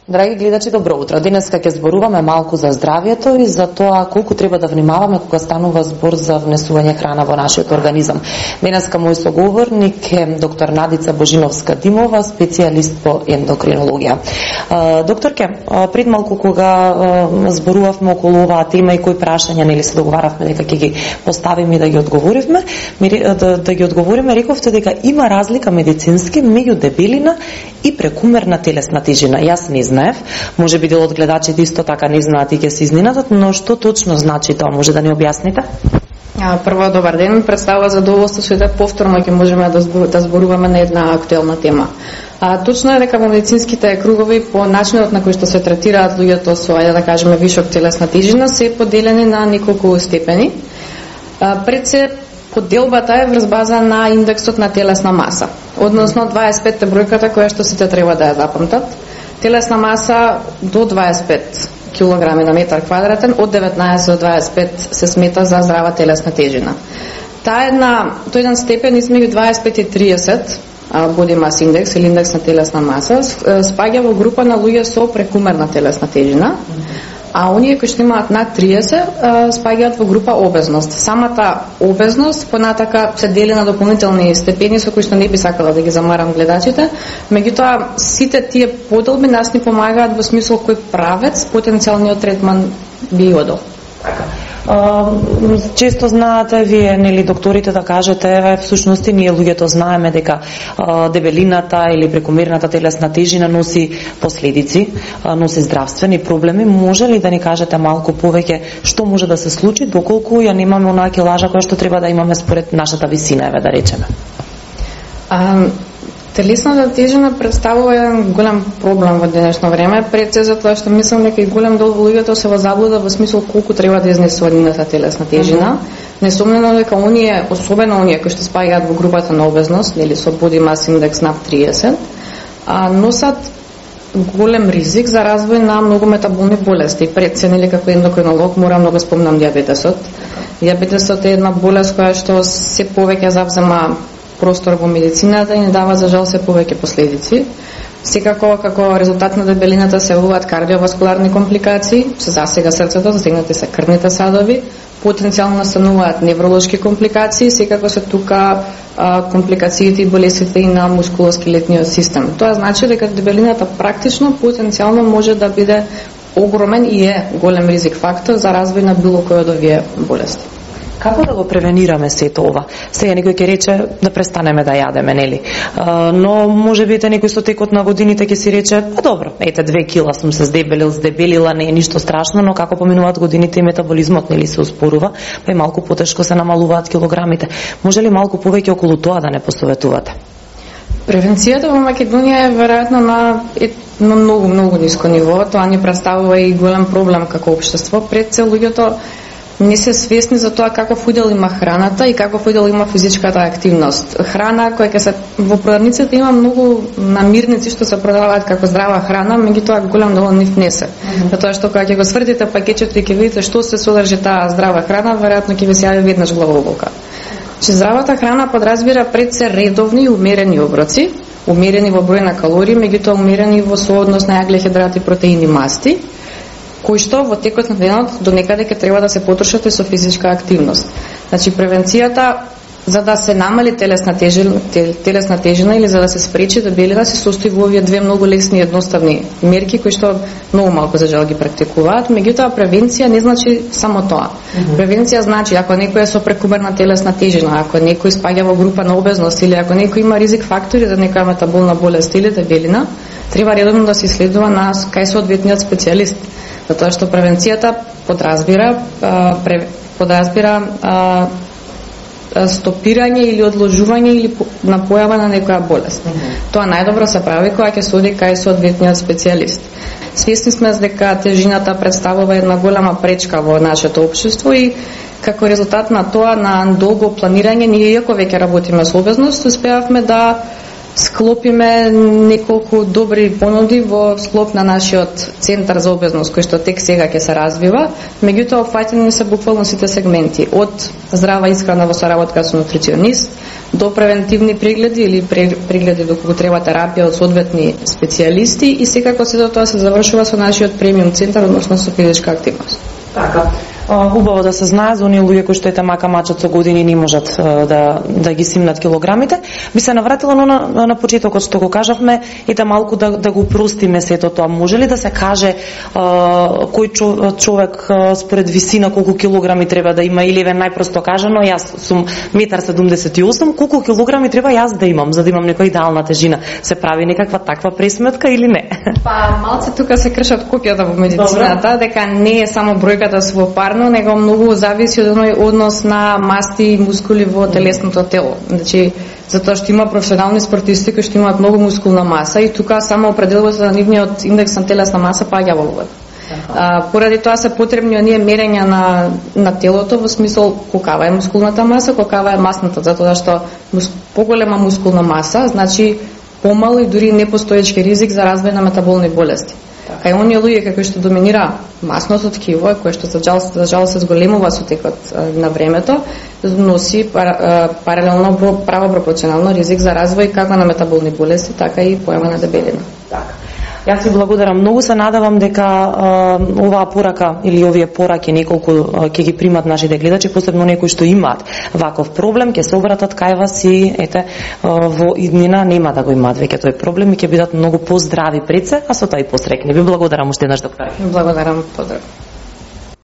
Драги гледачи, добро утро. Денеска ќе зборуваме малку за здравјето и за тоа колку треба да внимаваме кога станува збор за внесување храна во нашиот организам. Денеска мој соговорник е доктор Надица Божиновска-Димова, специјалист по ендокринологија. Докторке, пред малку кога зборувавме околу оваа тема и кои прашања нели се договаравме дека ќе ги поставиме и да ги одговориме, рековте дека има разлика медицински меѓу дебелина и прекумерна телесна тежина. Јас не знаев, може би дел од гледачите исто така не знаат и ќе се изненадат, но што точно значи тоа, може да ни објасните? Прво, добар ден, представува задоволство што да повторно ќе можеме да зборуваме на една актуелна тема. Точно е дека во медицинските кругови по начинот на кој што се третираат луѓето со, ајде да кажеме, вишок телесна тежина се поделени на неколку степени. Пред се поделбата е врз база на индексот на телесна маса, односно 25 бројката која што сите треба да ја запамтат. Телесна маса до 25 килограми на метар квадратен, од 19 до 25 се смета за здрава телесна тежина. Тој еден степен измеѓу 25 и 30 body mass index или индекс на телесна маса спаѓа во група на луѓе со прекумерна телесна тежина, а оние кои што имаат над 30 спаѓаат во група обезност. Самата обезност понатака се дели на дополнителни степени со кои што не би сакала да ги замарам гледачите, меѓутоа сите тие поделби нас ни помагаат во смисол кој правец потенцијалниот третман би одел. Често знаате вие, нели, докторите да кажете, всушност ние луѓето знаеме дека дебелината или прекомерната телесна тежина носи последици, носи здравствени проблеми. Може ли да ни кажете малку повеќе што може да се случи доколку ја немаме онаа килажа која што треба да имаме според нашата висина, да речеме? Телесната тежина представува еден голем проблем во денешно време, пред се затоа што мислам дека и голем дел во луѓето се во заблуда во смисол колку треба да изнесува нивната телесна тежина. Несомнено дека оние, особено оние кои што спаѓаат во групата на обезност, нели со body mass index над 30, носат голем ризик за развој на многу метаболни болести. Пред се, нели, како ендокринолог морам да го спомнам дијабетесот. Дијабетесот е една болест која што се повеќе завзема простор во медицината и не дава за жал се повеќе последици. Секако како резултат на дебелината се јавуваат кардиоваскуларни компликации, се засега срцето, засегнати се крвните садови, потенцијално настануваат невролошки компликации, секако се тука компликациите и болестите и на мускулоскелетниот систем. Тоа значи дека дебелината практично потенцијално може да биде огромен и е голем ризик фактор за развој на било кој од овие болести. Како да го превенираме сето ова? Сега некој ќе рече да престанеме да јадеме, нели? Но може би некој со текот на годините ќе си рече, добро, ете 2 кила сум се здебелила, не е ништо страшно, но како поминуваат годините и метаболизмот нели се успорува, па и малку потешко се намалуваат килограмите. Може ли малку повеќе околу тоа да не посоветувате? Превенцијата во Македонија е веројатно на многу ниско ниво. Тоа ни представува и голем проблем како општество. Пред се луѓето не се свесни за тоа каков удел има храната и каков удел има физичката активност. Храна која ќе се во продавниците има многу намирници што се продаваат како здрава храна, меѓутоа голем дел од нив не се. Затоа што кога ќе го свртите пакетчето и ќе видите што се содржи таа здрава храна, веројатно ќе ви се јави веднаш главоболка. Че здравата храна подразбира пред се редовни и умерени оброци, умерени во број на калории, меѓутоа умерени во сооднос на јагле, протеини, масти, кои што во текот на денот до некаде ќе треба да се потрошат и со физичка активност. Значи превенцијата за да се намали телесна тежина или за да се спречи дебелина се состои во овие две многу лесни и едноставни мерки кои што многу малку за жал ги практикуваат, меѓутоа превенција не значи само тоа. Превенција значи ако некој е со прекумерна телесна тежина, ако некој спаѓа во група на обезност или ако некој има ризик фактори за некоја метаболна болест или дебелина, треба редовно да се исследува кај соодветниот специјалист. Затоа што превенцијата подразбира стопирање или одложување или на појава на некоја болест. Тоа најдобро се прави кога ќе се оди кај соодветниот специјалист. Свесни сме дека тежината представува една голема пречка во нашето општество и како резултат на тоа, на долго планирање, ние иако веќе работиме со обезност, успеавме да склопиме неколку добри понуди во склоп на нашиот центар за обезност кој што тек сега ќе се развива, меѓутоа опфаќани се буквално сите сегменти, од здрава исхрана во соработка со нутриционист, до превентивни прегледи или прегледи доколку треба терапија од соодветни специјалисти и секако сето тоа се завршува со нашиот премиум центар, односно со физичка активност. Така. Убаво да се знае за оние луѓе кои што мака мачат со години не можат да ги симнат килограмите. Би се навратила на почетокот што го кажавме и малку да го простиме сето тоа. Може ли да се каже кој човек според висина колку килограми треба да има, или најпросто кажано, јас сум 1,78 м, колку килограми треба јас да имам за да имам некоја идеална тежина? Се прави некаква таква пресметка или не? Па малце тука се кршат копјата во медицината, дека не е само бројката свопарно, него многу зависи од оној однос на масти и мускули во телесното тело. Значи, затоа што има професионални спортисти кои што имаат многу мускулна маса и тука само определувањето на нивниот индекс на телесна маса паѓа во обид. Поради тоа се потребни оние мерења на телото во смисол колкава е мускулната маса, колкава е масната, затоа што поголема мускулна маса значи помал и дури непостоечки ризик за развој на метаболни болести. Кај оние луѓе кои што доминира масното ткиво, кое што за жал се зголемува со текот на времето, носи паралелно право пропорционално ризик за развој како на метаболни болести, така и појава на дебелина. Така. Јас ви благодарам многу, се надевам дека оваа порака или овие пораки неколку ќе ги примат нашите гледачи, посебно некои што имаат ваков проблем, ќе се обратат кај вас и ете во иднина нема да го имаат веќе тој проблем и ќе бидат многу поздрави пред се, а со тоа и посрекни. Ви благодарам уште еднаш, доктор. Благодарам, поздрав.